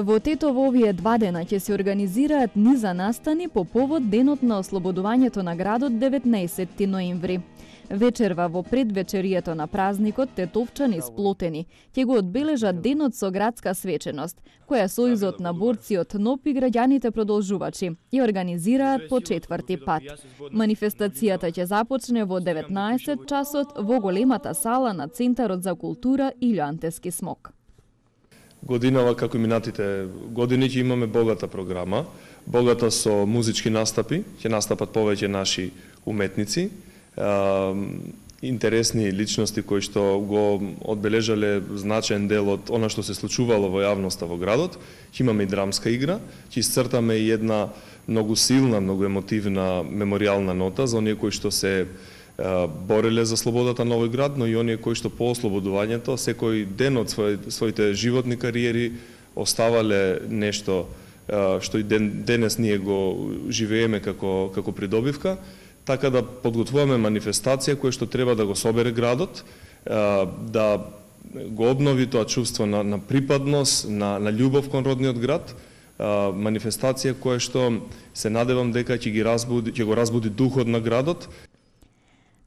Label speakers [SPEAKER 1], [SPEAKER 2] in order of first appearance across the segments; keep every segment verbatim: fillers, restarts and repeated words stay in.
[SPEAKER 1] Во Тетово овие два дена ќе се организираат низа настани по повод денот на ослободувањето на градот деветнаесетти ноември. Вечерва во предвечерието на празникот тетовчани сплотени ќе го одбележат денот со градска свеченост, која сојузот на борци од НОП и граѓаните продолжувачи ја организираат по четврти пат. Манифестацијата ќе започне во деветнаесет часот во големата сала на Центарот за култура Илјо Антески Смок.
[SPEAKER 2] Годинава, како и минатите години, ќе имаме богата програма, богата со музички настапи, ќе настапат повеќе наши уметници, интересни личности кои што го одбележале значаен дел од она што се случувало во јавноста во градот. Ќе имаме и драмска игра, ќе исцртаме и една многу силна, многу емотивна меморијална нота за оние кои што се бореле за слободата на овој град, но и оние кои што по ослободувањето секој ден од своите животни кариери оставале нешто што и ден, денес ние го живееме како како придобивка. Така да подготвуваме манифестација која што треба да го собере градот, да го обнови тоа чувство на, на припадност, на, на љубов кон родниот град, манифестација која што се надевам дека ќе ги разбуди, ќе го разбуди духот на градот.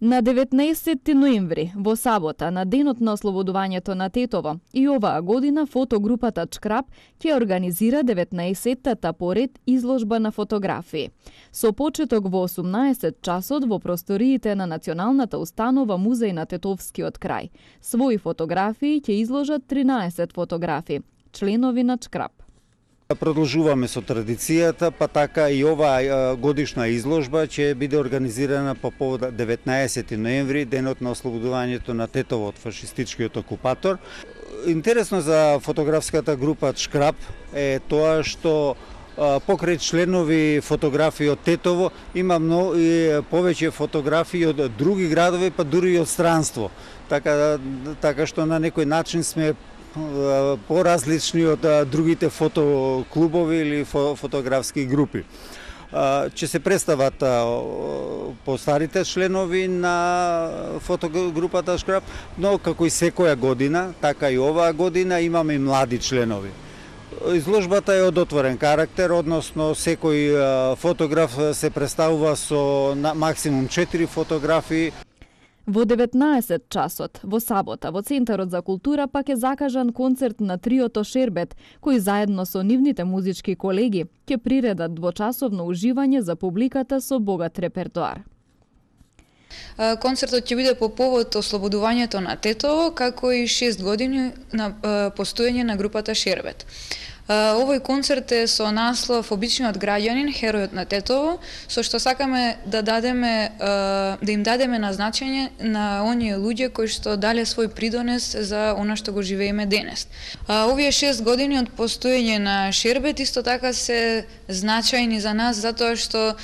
[SPEAKER 1] На деветнаесетти ноември, во сабота, на денот на ослободувањето на Тетово, и оваа година фотогрупата Чкрап ќе организира деветнаесеттата поред изложба на фотографии. Со почеток во осумнаесет часот во просториите на Националната установа Музеј на Тетовскиот крај. Своји фотографии ќе изложат тринаесет фотографии, членови на Чкрап.
[SPEAKER 3] Продолжуваме со традицијата, па така и оваа годишна изложба ќе биде организирана по повод деветнаесетти ноември, денот на ослободувањето на Тетово од фашистичкиот окупатор. Интересно за фотографската група Чкрап е тоа што покрај членови фотографии од Тетово има многу и повеќе фотографии од други градови, па дури и од странство. Така така што на некој начин сме поразлични од другите фотоклубови или фотографски групи. Ќе се представат по старите членови на фотогрупата Чкрап, но како и секоја година, така и оваа година имаме и млади членови. Изложбата е од отворен карактер, односно секој фотограф се представува со максимум четири фотографии.
[SPEAKER 1] Во деветнаесет часот, во сабота, во Центарот за култура пак е закажан концерт на триото Шербет, кои заедно со нивните музички колеги ќе приредат двочасовно уживање за публиката со богат репертоар.
[SPEAKER 4] Концертот ќе биде по повод ослободувањето на Тетово, како и шест години на постоење на групата Шербет. Овој концерт е со наслов Обичниот граѓанин, херојот на Тетово, со што сакаме да дадеме да им дадеме на значење на оние луѓе кои што дале свој придонес за она што го живееме денес. Овие шест години од постоење на Шербет исто така се значајни за нас затоа што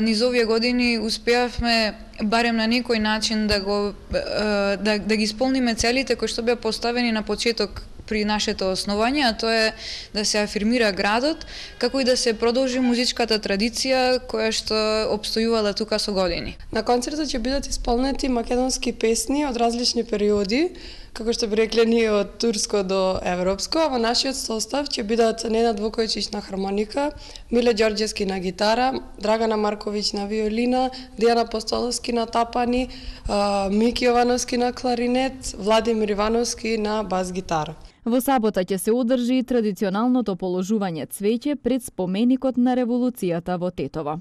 [SPEAKER 4] низ овие години успеавме барем на некој начин да го да, да ги исполниме целите кои што беа поставени на почеток при нашето основање, а тоа е да се афирмира градот, како и да се продолжи музичката традиција која што обстојувала тука со години.
[SPEAKER 5] На концертот ќе бидат исполнети македонски песни од различни периоди, како што би рекле ние од турско до европско, а во нашиот состав ќе бидат Ненад Вукојчич на хармоника, Миле Ѓорѓевски на гитара, Драгана Марковиќ на виолина, Дијана Постоловски на тапани, Мики Јовановски на кларинет, Владимир Ивановски на бас гитара.
[SPEAKER 1] Во сабота ќе се одржи и традиционалното положување цвеќе пред споменикот на револуцијата во Тетово.